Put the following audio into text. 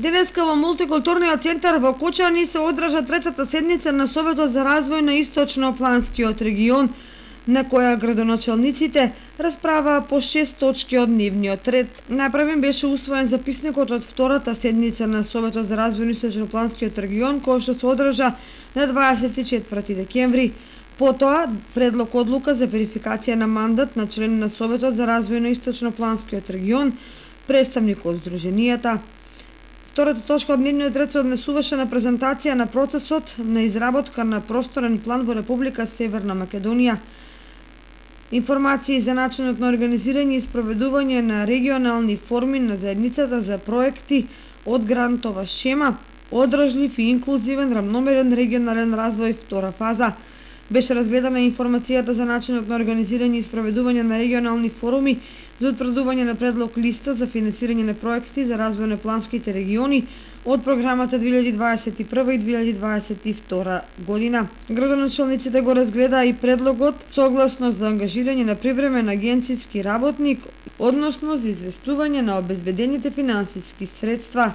Денеска во мултикултурниот центар во Кочани се одржа третата седница на Советот за развој на Источно-Планскиот регион, на која градоначалниците расправаа по 6 точки од дневниот ред. Најпрвен беше усвоен записникот од втората седница на Советот за развој на Источно-Планскиот регион, кој што се одржа на 24 декември. Потоа, предлог одлука за верификација на мандат на член на Советот за развој на Источно-Планскиот регион, представник од Сдруженијата. Втората точка од дневниот ред се однесуваше на презентација на процесот на изработка на просторен план во Република Северна Македонија, информации за начинот на организирање и спроведување на регионални форми на заедницата за проекти од грантова шема, одржлив и инклузивен рамномерен регионален развој втора фаза. Беше разгледана информацијата за начинот на организирање и спроведување на регионални форуми за утврдување на предлог листа за финансирање на проекти за развој на планските региони од програмата 2021 и 2022 година. Градоначалниците го разгледаа и предлогот согласно за ангажирање на привремен агенцијски работник, односно за известување на обезбедените финансиски средства.